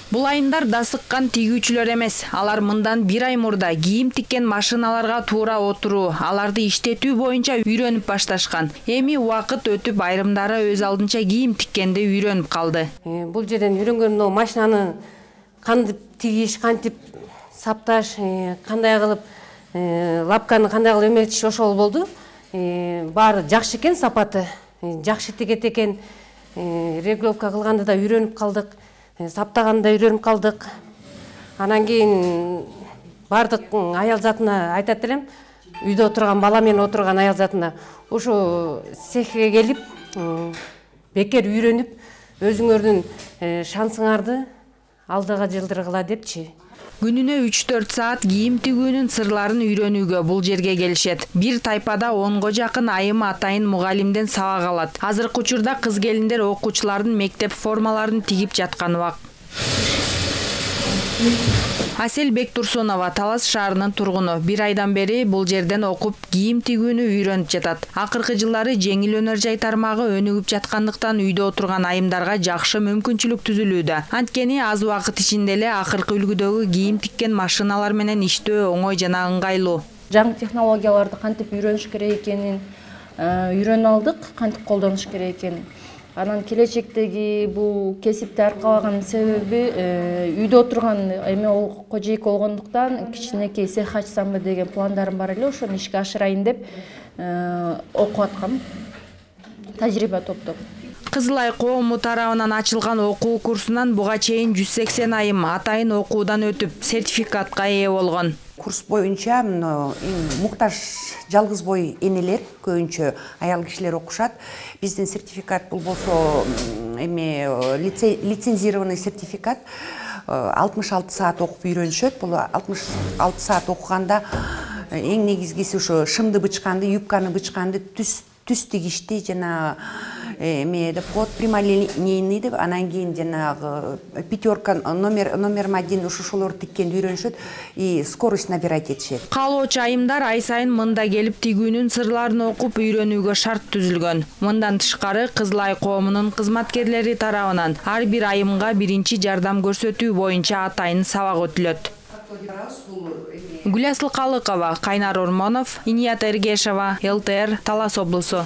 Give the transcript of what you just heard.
Бул айымдар дасыккан тигүүчүлөр эмес. Алар мындан 1 ай мурда кийим тиккен машиналарга туура отуруу, аларды иштетүү боюнча үйрөнүп башташкан. Эми убакыт өтүп айрымдары өз алдынча кийим тиккенди үйрөнүп калды. Бул жерден үйрөнгөнүм машинаны кантип тигиш, кантип сапташ, кандай кылып лапканы кандай кылып эметиш ошол болду. Баары жакшы экен, сапаты жакшы тигет экен. Регулировка кылганды да үйрөнүп калдык. Саптаганда үйрөнүп калдык. Анан кийин бардык аял затына айтат элем, үйдө отурган бала менен отурган аял затына ушу цехке келип, бекер үйрөнүп, өзүңөрдүн шансыңарды алдыга жылдыргыла депчи. Күнүнө 3-4 саат кийим тигүүнүн сырларын үйрөнүүгө бул жерге келишет. Бир тайпада 10го жакын айым атайын мугалимден сабак алат. Азыркы учурда кыз келиндер окуучулардын мектеп формаларын тигип жаткан убак. Асель Бектурсунова Талас шаарынын тургуну. 1 айдан бери бул жерден окуп кийим тигүүнү үйрөнүп жатат. Акыркы жылдары жеңил өнөр жай тармагы өнүгүп жаткандыктан үйдө отурган айымдарга жакшы мүмкүнчүлүк түзүлүүдө. Анткени аз убакыт ичинде эле акыркы үлгүдөгү кийим тиккен машиналар менен иштөө оңой жана ыңгайлуу. Жаңы технологияларды кантип үйрөнүш керек экенин үйрөнүп алдык, кантип колдонуш керек экенин. Анан келечектеги бул кесипти аркалаган себеби үйдө отурган эми ол кожойки болгондуктан кичинекей цех ачсамбы деген пландарым бар эле, ошону ишке ашырайын деп окуп аткам, тажрыйба топтоп. Кызыл Ай коому тарабынан ачылган окуу курсунан буга чейин 180 айым атайын окуудан өтүп, сертификатка ээ болгон. Курс боюнча муктаж жалгыз бой энелер, көбүнчө аял кишилер окушат. Биздин сертификат бул болсо эми лицензированный сертификат. 66 саат окуп үйрөнүшөт. Бул 66 саат окуганда эң негизгиси ошо шымды бычканды, юбканы бычканды, түз тигишти жана под прямолинейный деп, анан кийин жанагы пятерка номер 1 ошолорду тиккенди үйрөнүшөт и скорость набирать этишет. Каалоочу айымдар ай сайын мында келип тигүүнүн сырларын окуп үйрөнүүгө шарт түзүлгөн. Мындан тышкары Кызыл Ай коомунун кызматкерлери тарабынан ар бир айымга биринчи жардам көрсөтүү боюнча атайын сабак өтүлөт. Гүласыл Калыкова, Кайнар Ормонов, Иният Эргешова, ЛТР, Талас облусу.